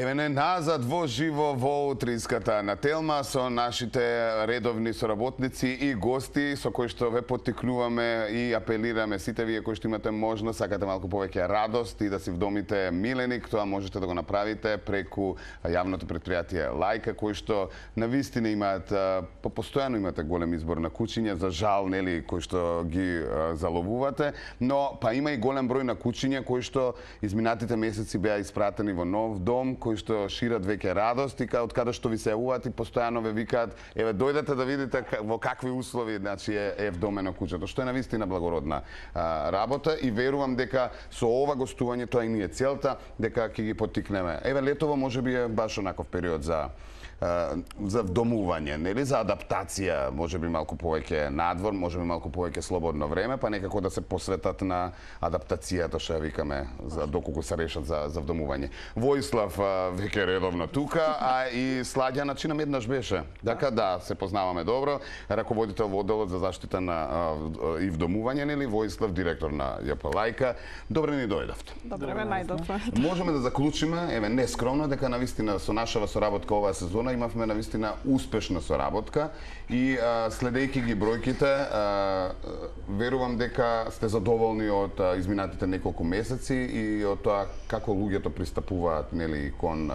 Еве не назад во живо во утринската на Телма со нашите редовни соработници и гости со кои што ве поттикнуваме и апелираме сите вие кои што имате можност, сакате малку повеќе радост и да си вдомите миленик, тоа можете да го направите преку јавното претпријатие Лајка, кои што навистина имаат постојано имате голем избор на кучиња, за жал нели кои што ги заловувате, но па има и голем број на кучиња кои што изминатите месеци беа испратени во нов дом, кои што шират веќе радост и од каде што ви се јавуваат и постојано ве викаат, еве дојдете да видите во какви услови значи е вдомено куќето, што е навистина благородна работа и верувам дека со ова гостување тоа и ни е целта, дека ќе ги поттикнеме. Еве летово можеби е баш онаков период за вдомување, нели, за адаптација, можеби малку повеќе надвор, можеби малку повеќе слободно време, па некако да се посветат на адаптацијата, што ја викаме, за доколку се решат за вдомување. Војслав веќе редовно тука, а и Сладјана чинам еднаш беше. Така да, се познаваме добро, раководител во одделот за заштита на и вдомување, нели, Војслав, директор на ЈП Лајка. Добре ни дојдовте. Добре ме најдовте. Можеме да заклучиме, еве нескромно, дека навистина со нашава соработка оваа сезона имавме навистина успешна соработка и следејќи ги бројките, верувам дека сте задоволни од изминатите неколку месеци и од тоа како луѓето пристапуваат нели кон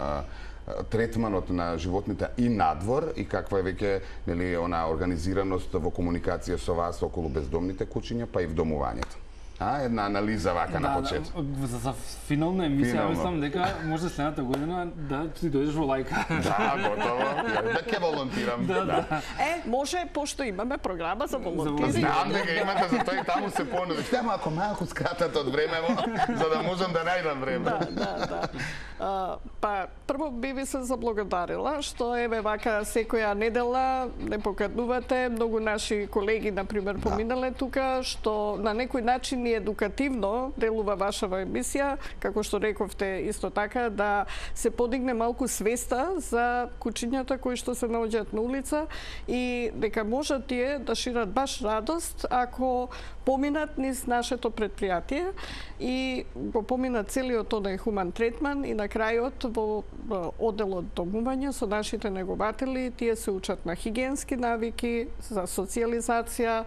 третманот на животните и надвор и каква е веќе нели она организираност во комуникација со вас околу бездомните кучиња па и вдомувањето. Една анализа вака на почеток. За финална емисија мислам дека може следната година да ти дојдеш во Лајка. Да, готово. Да ќе волонтирам. Може, пошто имаме програма за волонтирање. Знам дека имате, за тоа и таму се понуди. Тема ако малку скратат од времево, за да можам да најдам време. Да. Па прво би ви се заблагодарила што еве вака секоја недела не поканувате многу наши колеги на пример поминале тука што на некој начин и едукативно делува вашава емисија, како што рековте исто така да се подигне малку свеста за кучињата кои што се наоѓаат на улица и дека можат тие да шират баш радост ако поминат низ нашето претпријатие и го поминат целиот тој хуман третман и на крајот во одделот домување со нашите негователи, тие се учат на хигиенски навики, за социјализација,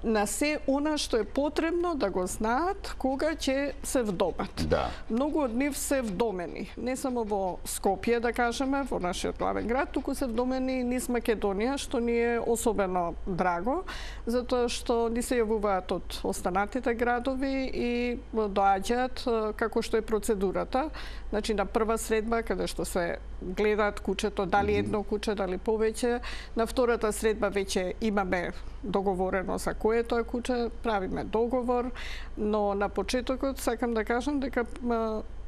на се она што е потребно да го знаат кога ќе се вдомат. Да. Многу од нив се вдомени, не само во Скопје, да кажеме, во нашиот главен град, туку се вдомени низ Македонија, што ни е особено драго, затоа што ни се јавуваат од останатите градови и доаѓаат како што е процедурата. Значи на прва средба каде што се гледаат кучето, дали едно куче, дали повеќе. На втората средба веќе имаме договорено за кое е тоа куче, правиме договор, но на почетокот сакам да кажам дека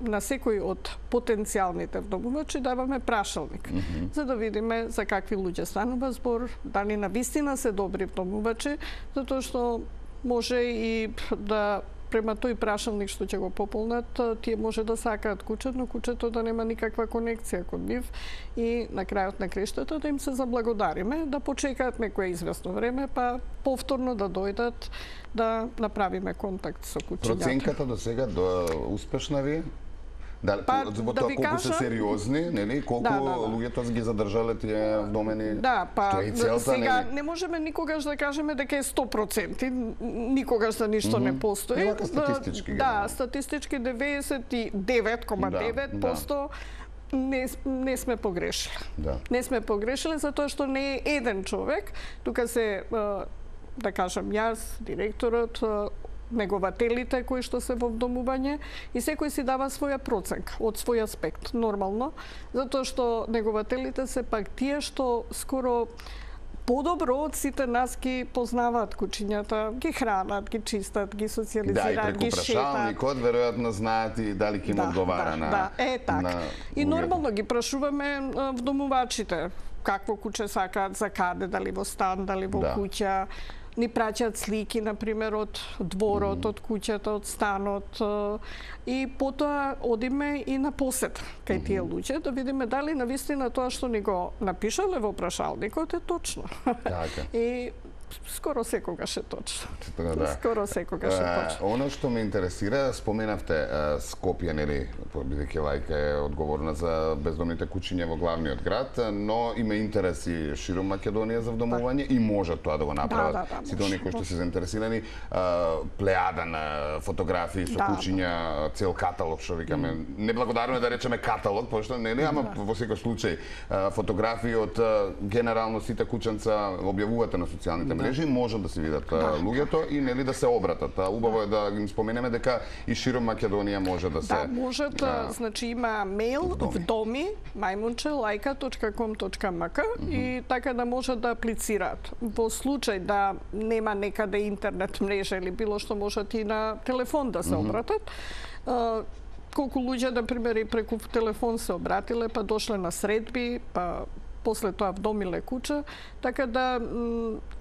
на секој од потенцијалните вдомувачи даваме прашалник, за да видиме за какви луѓе станува збор, дали навистина се добри вдомувачи, затоа што може и да према тој прашалник што ќе го пополнат, тие може да сакаат куче, но кучето да нема никаква конекција кон нив и на крајот на крештата да им се заблагодариме, да почекаат некое известно време, па повторно да дојдат да направиме контакт со кучињата. Проценката до сега успешна ви? Да, колку се сериозни, нели? Колку луѓето ги задржале тие вдомени? Да, па целта, сега нели? не можеме никогаш да кажеме дека е 100%, никогаш за ништо не постои. Вака статистички. Да, статистички 99,9% не сме погрешили. Да. Не сме погрешили затоа што не е еден човек, тука се да кажам јас, директорот, негователите кои што се во вдомување и секој си дава своја проценка од свој аспект, нормално, затоа што негователите се пак тие што скоро подобро од сите нас ги познаваат кучињата, ги хранат, ги чистат, ги социјализираат, ги шетат. Да, и преку прашалникот веројатно знаат и дали ќе им одговара на... Да, така. И нормално ги прашуваме вдомувачите какво куче сакаат, за каде, дали во стан, дали во куќа. Ни праќаат слики, например, од дворот, од куќата, од станот. И потоа одиме и на посета кај тие луѓе, да видиме дали навистина тоа што ни го напишале во прашалникот е точно. И скоро секогаш е точно. Да. Скоро секогаш е точно. Оно што ме интересира, споменавте Скопје, нели, бидејќи Лајка е одговорна за бездомните куќиња во главниот град, но има интереси широм Македонија за вдомување и може тоа да го направат сите оние кои што се заинтересирани. Плејада на фотографии со куќиња, цел каталог, што викаме. Неблагодарно е да речеме каталог, пошто нели, ама во секој случај фотографии од генерално сите куќанца објавувате на социјалните мрежи, можат да се видат луѓето и нели да се обратат. Убаво е да им споменеме дека и широм Македонија може да се... Да, можат, значи има мејл вдоми maimунче@laika.com.mk и така да можат да аплицираат. Во случај да нема некаде интернет мрежа или било што, можат и на телефон да се обратат. Колку луѓе, на пример, и преку телефон се обратиле, па дошле на средби, па после тоа вдомиле куќа, така да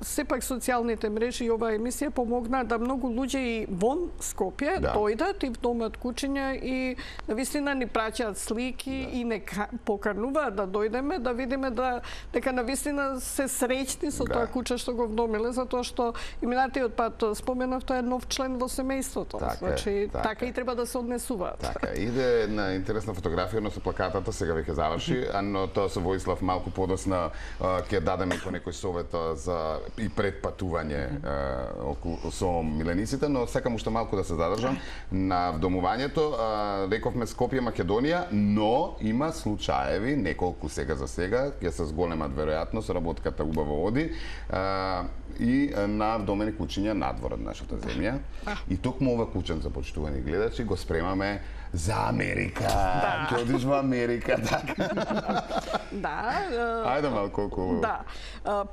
сепак социјалните мрежи и оваа емисија помогна да многу луѓе и вон Скопје дојдат и вдомат куќиња и навистина ни праќаат слики и не покануваат да дојдеме, да видиме дека навистина се среќни со тоа куќа што го вдомиле, затоа што и минатиот пат споменав, тоа е нов член во семејството. Значи така и треба да се однесуваат. Така, иде на интересна фотографија, но со плакатата сега веќе заврши, но тоа со Воислав малку подосна ќе дадеме по некој совет за и предпатување со милениците, но сакам уште малку да се задржам на вдомувањето. Рековме Скопје, Македонија, но има случаеви, неколку сега за сега, ќе се зголемат веројатност, работката убаво оди, и на вдомени куќиња надвор од нашата земја. И токму ова куќенца, почитувани гледачи, го спремаме за Америка. Ќе одиш во Америка, така. Ајде малку околу. Да.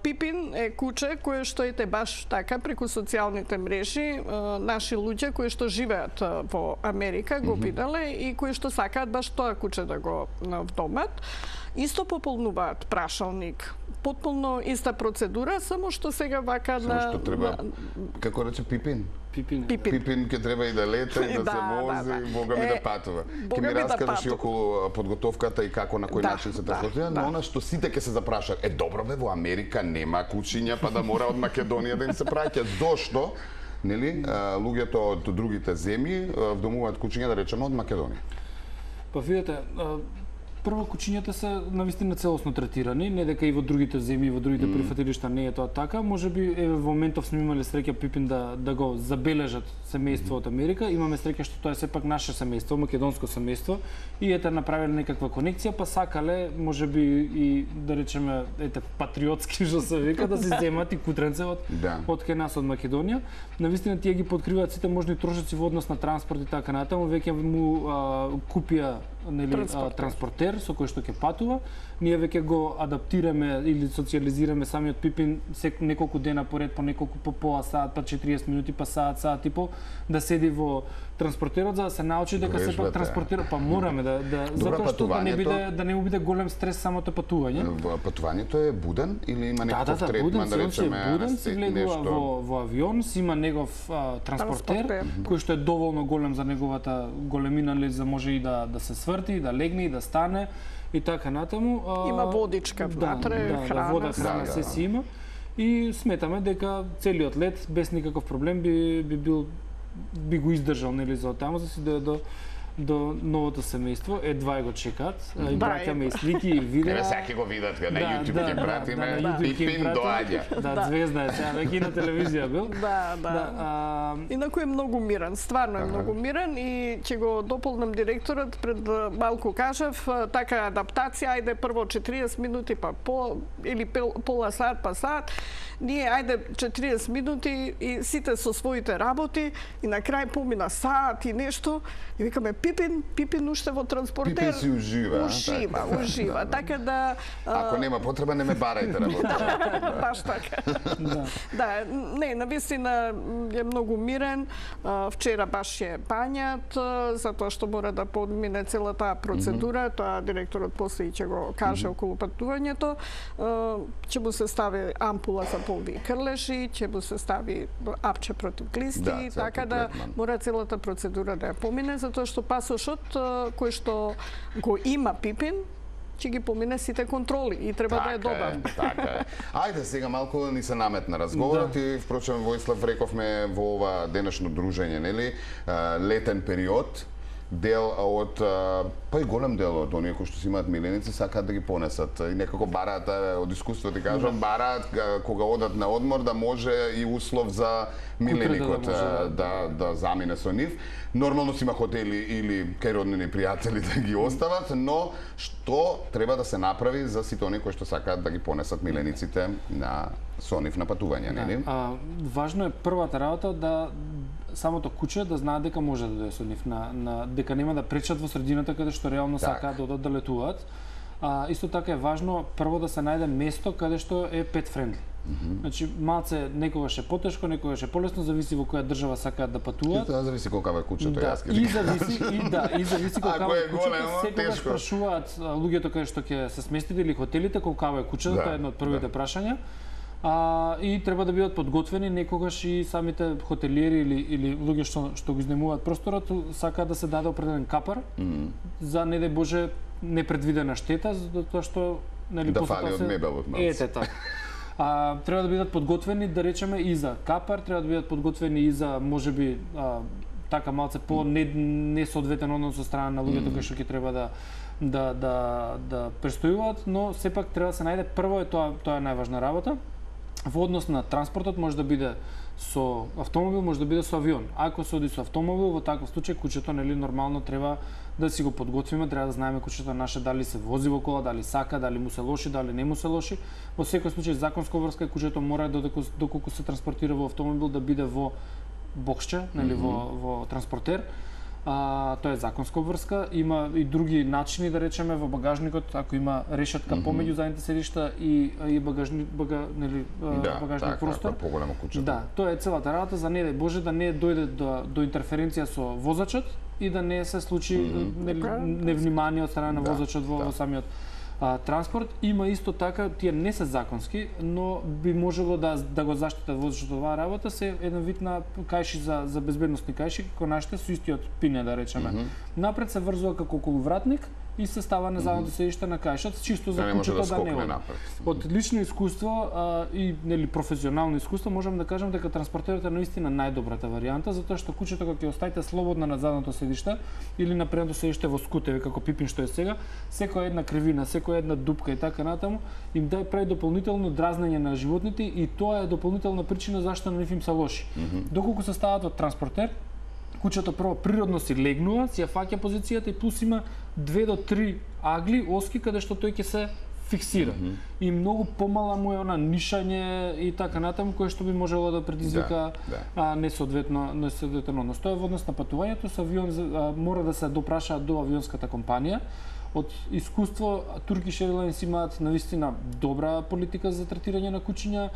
Пипин е куче кое што ете баш така преку социјалните мрежи наши луѓе кои што живеат во Америка го виделе и кои што сакаат баш тоа куче да го вдомат. Исто пополнуваат прашалник. Потполно иста процедура, само што сега вака на... Само што треба, како рече Пипин? Пипин ќе треба и да лета, и да се вози, Бога ми да патува. Ќе ми раскажеш и околу подготовката и како, на кој начин се трасотија, но она што сите ќе се запрашаат, добро бе, во Америка нема куќиња, па да мора од Македонија да им се праќа. Зошто? Нели, луѓето од другите земји вдомуваат куќиња, да речеме, од Македонија? Па видете, прво куќињата се навистина целосно третирани, не дека и во другите земји, во другите прифатилишта не е тоа така. Можеби во моментов сме имале среќа Пипин да го забележат семејство од Америка. Имаме среќа што тоа е сепак наше семејство, македонско семејство, и ете направиле некаква конекција, па сакале можеби и да речеме патриотски што се вика, да се земат и кутренце од кај нас од Македонија. Навистина тие ги подкриваат сите можни трошоци во однос на транспорт и така натаму. Веќе му купија транспортер со кој што ќе патува. Ние веќе го адаптираме или социализираме самиот Пипин неколку дена поред, по неколку по пола саат, па 40 минути, па саат и пол, да седи во транспортерот за да се научи дека сепак транспортира, па мораме затоа што да не биде голем стрес самото патување. Патувањето е буден или има некој третман, да речеме, буден, си влегува во авион, си има негов транспортер кој што е доволно голем за неговата големина, за може и да се сврти, да легне и да стане и така натаму. Има водичка внатре, храна. Вода, храна, се си има. И сметаме дека целиот лет без никаков проблем би го издржал, нели, за таму, за си до новото семејство. Едва го чекаат. И браќаме и слики, и видеа. Еве сега ќе го видат, на YouTube ќе пратиме. Пипин доаѓа. Да, звезда е сега, веќе на телевизија бил. Да. Инаку е многу мирен, стварно е многу мирен и ќе го дополнам директорот, пред малку кажав, така адаптација, ајде прво 40 минути, па или пола сат, па сат. Ние, ајде 40 минути и сите со своите работи и на крај помина саат и нешто и викаме Пипин уште во транспортер. Пипин си ужива. Ужива. Така да... Ако нема потреба, не ме барајте работа. Баш така. Да, не, навистина е многу мирен. Вчера баш е пањат, затоа што мора да подмине цела таа процедура. Тоа директорот после ќе го каже околу патувањето. Ќе му се стави ампула за полви крлеши, ќе му се стави апче против глисти, така да мора целата процедура да ја помине, затоа што пасошот кој што го има Пипин, ќе ги помине сите контроли и треба да е добар. Така е. Ајде сега малку ни се наметна разговорот и впрочем Војслав рековме во ова денешно дружење, нели, летен период, дел од па и голем дел од оние кои што си имаат миленици сакаат да ги понесат и некако бараат од искуство ти кажам бараат кога одат на одмор да може и услов за миленикот да замине со нив. Нормално си има хотели или кај роднини пријатели да ги остават, но што треба да се направи за сите оние кои што сакаат да ги понесат милениците со нив на патување, нели? Важно е првата работа да самото куче да знаат дека може да дојде со нив дека нема да пречат во средината каде што реално сакаат да одат да летуваат. Исто така е важно прво да се најде место каде што е pet friendly. Значи малце некогаш е потешко, некогаш е полесно, зависи во која држава сакаат да патуваат. И зависи колкава е кучето, јас и зависи колкава е кучето. Секогаш прашуваат луѓето каде што ќе се сместите или хотелите колкава е кучето, тоа е едно од првите прашања. И треба да бидат подготвени некогаш и самите хотелиери или луѓе што го изнемуваат просторот сакаат да се даде определен капар за не дај Боже непредвидена штета, затоа што нели да фали од мебелот малку. Ете така. Треба да бидат подготвени, да речеме, и за капар, треба да бидат подготвени и за можеби така малце по несоодветен однос со страна на луѓето кои што ќе треба да престојуваат, но сепак треба да се најде прво тоа е најважна работа. Во однос на транспортот може да биде со автомобил, може да биде со авион. Ако се оди со автомобил, во таков случај кучето нели нормално треба да си го подготвиме, треба да знаеме кучето наше дали се вози во кола, дали сака, дали му се лоши, дали не му се лоши. Во секој случај законска врска кучето мора доколку се транспортира во автомобил да биде во боксче, нели во транспортер. Тоа е законска обврска, има и други начини да речеме во багажникот, ако има решетка помеѓу задните седишта и багажник простор. Поголемо куче. Да, тоа е целата работа за не дај Боже да не дојде до интерференција со возачот и да не се случи невнимание од страна на возачот во самиот транспорт. Има исто така, тие не се законски, но би можело да го заштитат возачот оваа работа, се еден вид на кајши за безбедносни кајши, како нашите со истиот пине да речеме. Напред се врзува како околувратник и се става на задното седиште на кајшот, чисто за кучето да не оди. Од лично искуство и нели професионално искуство можам да кажам дека транспортерот е наистина најдобрата варијанта, затоа што кучето кога ќе оставите слободно на задното седиште или на предното седиште во скутеви како Пипин што е сега, секоја една кривина, секоја една дупка и така натаму им прави дополнително дразнење на животните и тоа е дополнителна причина зашто на нив им се лоши. Доколку се стават од транспортер, кучето прво природно си легнува, си ја фаќа позицијата и плюс има 2 до 3 агли, оски каде што тој ќе се фиксира. И многу помала му е она нишање и така натаму кое што би можело да предизвика несоодветен однос. Тоа е во однос на патувањето со авион мора да се допрашаат до авионската компанија. Од искуство Turkish Airlines имаат навистина добра политика за третирање на кучиња.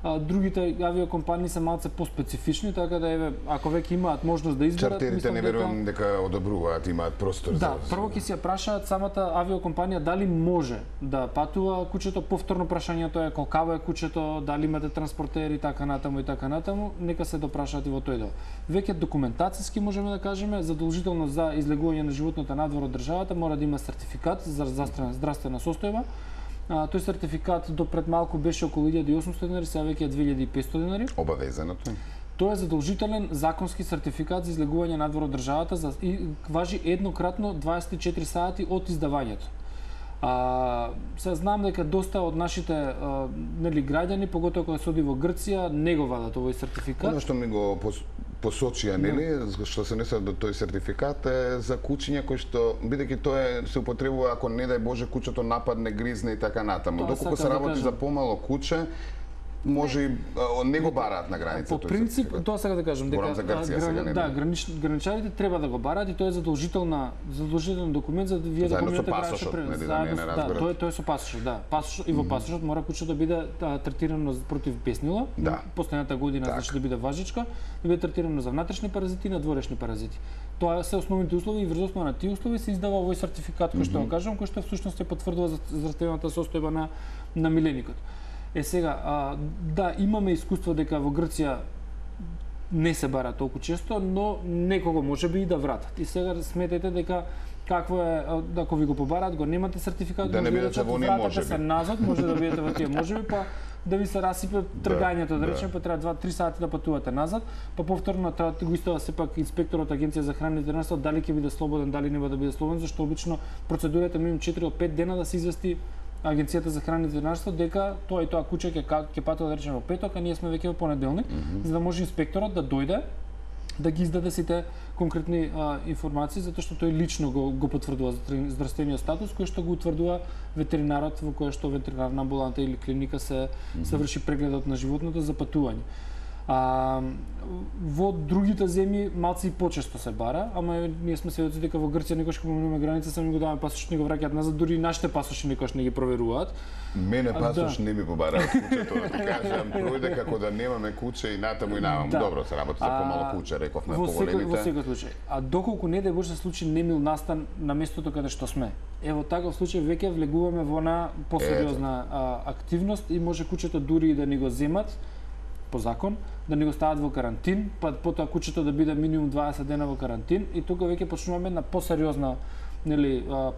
Другите авиокомпании се малце по-специфични, така да еве ако веќе имаат можност да изберат, чартерите не верувам дека одобруваат, имаат простор за. Да, прво ќе си ја прашаат самата авиокомпанија дали може да патува кучето, повторно прашањето е колкаво е кучето, дали имате транспортер и така натаму, нека се допрашаат и во тој дел. Веќе документацијски можеме да кажеме, задолжително за излегување на животното надвор од државата мора да има сертификат за здравствена состојба. Тој сертификат до пред малку беше околу 1800 денари, сега веќе е 2500 денари. Обавезено тоа. Тоа е задолжителен законски сертификат за излегување надвор од државата и важи еднократно 24 сати од издавањето. Се знам дека доста од нашите нели граѓани, поготоа кога се оди во Грција, не го вадат овој сертификат. Оно што ми го посочија, нели, што се несе до тој сертификат е за кучиња кои што бидејќи тоа се употребува ако не дај Боже кучето нападне, гризне и така натаму. Доколку се работи за помало куче, може и не го бараат на границата. По принцип, тоа сега да кажам дека граничарите треба да го бараат и тоа е задолжителен документ за вие да поминете граничен прелез. Тоа е со пасошот, да. Пасошот и во пасошот мора кучето да биде третирано против беснила. Последната година значи да биде важичка, да биде третирано за внатрешни паразити и надворешни паразити. Тоа се основните услови и врз основа на тие услови се издава овој сертификат кој што го кажам, кој што всушност ја потврдува здравствената состојба на миленикот. Сега, да, имаме искуство дека во Грција не се бара толку често, но некого може би и да вратат. И сега сметете дека какво е, ако ви го побараат, го немате сертификат, да не бидете во ние можеби. се назад, може да бидете во тие можеби, па да ви се расипе тргањето, да речеме, па треба 2-3 сати да патувате назад, па повторно треба го исто сепак инспекторот Агенција за храна и ветеринарство дали ќе биде слободен, дали нема да биде слободен, зашто обично процедурата минимум 4 од 5 дена да се извести Агенцијата за храна и ветеринарство дека тоа и тоа куче ќе патува да речеме во петок, а ние сме веќе во понеделник, за да може инспекторот да дојде да ги издаде сите конкретни информации, затоа што тој лично го потврдува здравствениот статус, кој што го утврдува ветеринарот во кој што ветеринарна амбуланта или клиника се врши прегледот на животното за патување. Во другите земји малци и почесто се бара, ама ние сме сведоци дека во Грција некош кога поминуваме граница сами го даваме пасош, не го враќаат назад, дури и нашите пасоши некош не ги проверуваат. Мене пасош не ми побараат кучето, да ти кажам, пројде како да немаме куче и натаму и наваму. Добро, се работи за помало куче, рековме поголемите. Во секој случај. А доколку не дај Боже се случи немил настан на местото каде што сме. Ево таков случај веќе влегуваме во на посериозна активност и може кучето дури и да ни го земат по закон, да ни го стават во карантин, па потоа кучето да биде минимум 20 дена во карантин и тука веќе почнуваме на посериозна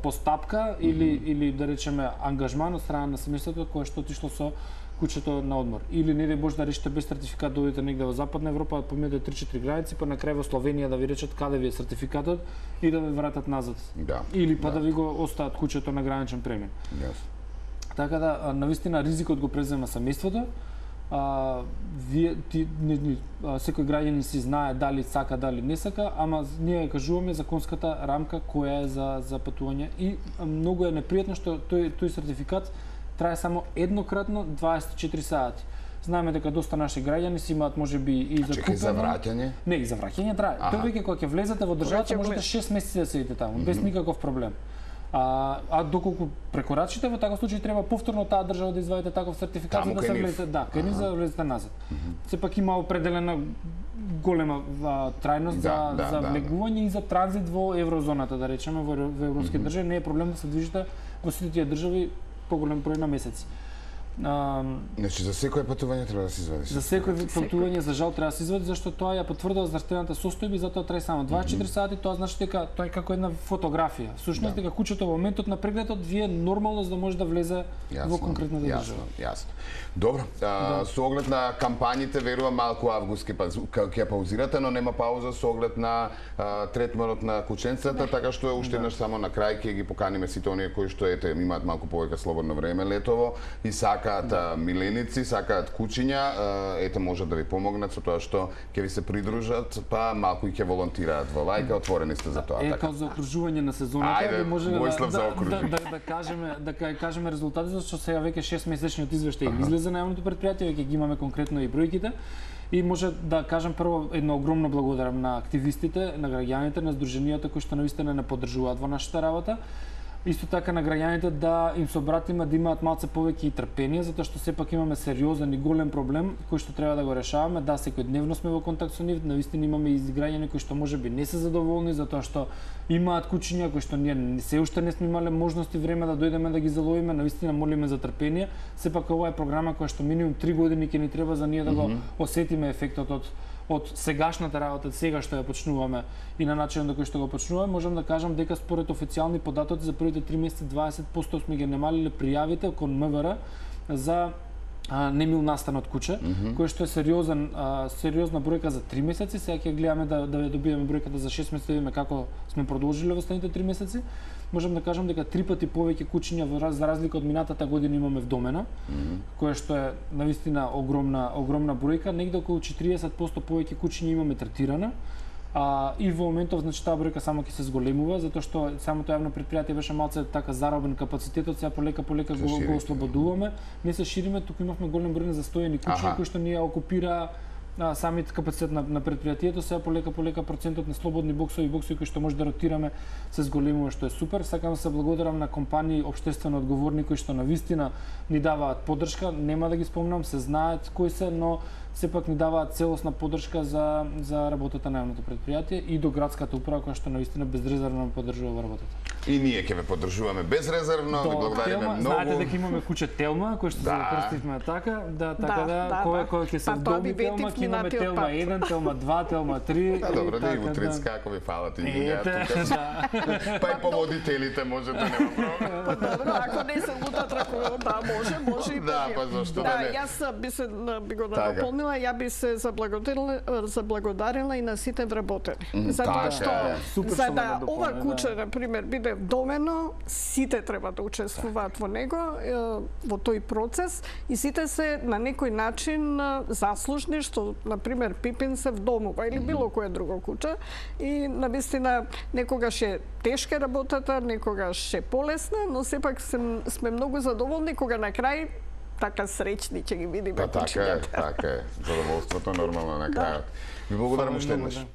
постапка или да речеме ангажман од страна на семејството кое што отишло со кучето на одмор. Или не дај Боже да решите без сертификат да одите негде во Западна Европа, поминете 3-4 граници, па на крај во Словенија да ви речат каде ви е сертификатот и да ви вратат назад. Да. Или па да ви го остават кучето на граничен премин. Така да навистина ризикот го презема семејството. Секој граѓанин си знае дали сака, дали не сака, ама ние кажуваме законската рамка која е за патување и многу е непријатно што тој сертификат трае само еднократно 24 сати. Знаеме дека доста наши граѓани си имаат можеби и за купено. За враќање? Не, и за враќање трае. Тој веќе кога ќе влезете во државата можете 6 месеци да седите таму без никаков проблем. Доколку прекорачите, во таков случај треба повторно таа држава да извадите таков сертификат за да се влезете, кај нив за да влезете назад. Сепак има определена голема трајност за влегување и за транзит во еврозоната, да речеме, во европски држави не е проблем да се движите во сите тие држави поголем број на месеци. Значи за секое патување треба да се извади. За секое патување за жал треба да се извади зашто тоа ја потврдува здравствената состојба и затоа трае само 24 сати, тоа значи дека тоа е како една фотографија. Всушност дека кучето во моментот на прегледот вие нормално за да може да влезе во конкретната држава. Јасно. Добро, со оглед на кампањите верувам малку август ќе паузирате, но нема пауза со оглед на третманот на кученцата, така што уште еднаш само на крај ќе ги поканиме сите оние кои што имаат малку повеќе слободно време летово и сакаат миленици, сакаат кучиња, можат да ви помогнат со тоа што ќе ви се придружат, па малку и ќе волонтираат во Лајка, отворени сте за тоа. Како за окружување на сезоната, би може да кажеме резултатите, што сега веќе 6 месечниот извештај излезе на јавното предпријатие, веќе ги имаме конкретно и бројките. И може да кажам прво едно огромно благодарам на активистите, на граѓаните, на здруженијата кои што навистина не поддржуваат во нашата работа. Исто така на граѓаните да им се обратиме да имаат малце повеќе и трпение, затоа што сепак имаме сериозен и голем проблем кој што треба да го решаваме. Да, секојдневно сме во контакт со нив, навистина имаме и граѓани кои што можеби не се задоволни затоа што имаат кучиња кои што ние се уште не сме имале можности време да дојдеме да ги заловиме, навистина молиме за трпение. Сепак ова е програма која што минимум 3 години ќе ни треба за ние да го осетиме ефектот од сегашната работа, сега што ја почнуваме и на начинот на кој што го почнуваме, можам да кажам дека според официјални податоци за првите 3 месеци 20% сме ги намалиле пријавите кон МВР за немил настан од куче, кој што е сериозна бројка за 3 месеци. Сега ќе гледаме да добиеме бројката за 6 месеци, да видиме како сме продолжиле во следните 3 месеци. Можам да кажам дека 3 пати повеќе кучиња за разлика од минатата година имаме вдомена, која што е навистина огромна бројка, негде околу 40% повеќе кучиња имаме третирана. И во моментов значи таа бројка само ќе се зголемува затоа што самото јавно предпријатие беше малце така заробен капацитетот, сега полека го ослободуваме. Не се шириме, туку имавме голем број на застоени кучиња кои што ние окупира самиот капацитет на предпријатието, сега полека процентот на слободни боксови кои што може да ротираме се зголемува, што е супер. Сакам да се благодарам на компании општествено одговорни кои што навистина ни даваат поддршка, нема да ги спомнам, се знаат кои се, но сепак ни даваат целосна поддршка за работата на јавното предпријатие и до градската управа која што навистина безрезервно поддржува работата. И ние ќе ве поддржуваме безрезервно, ви благодариме многу. Знаете дека имаме куче Телма, кој што се запрстивме така, кога ќе се вдоби Телма, ќе имаме Телма 1, Телма 2, Телма 3. Да, добро, да и утрицка, ако ви фалат и тука. Па и поводителите можете, нема проблем. Добро, ако не се утатра, да, може и да, па зашто да не? Јас би го дополнила, ја би се заблагодарила и на сите вработени. Затоа што за да ова куче, на пример, биде вдомено, сите треба да учествуваат во него, во тој процес и сите се на некој начин заслужни што, на пример, Пипин се вдомува или било кое друго куче и навистина некогаш е тешка работата, некогаш е полесна, но сепак сме многу задоволни кога на крај така среќни ќе ги видиме кучињата. Така е. Задоволството нормално на крајот. Ви благодарам уште еднаш.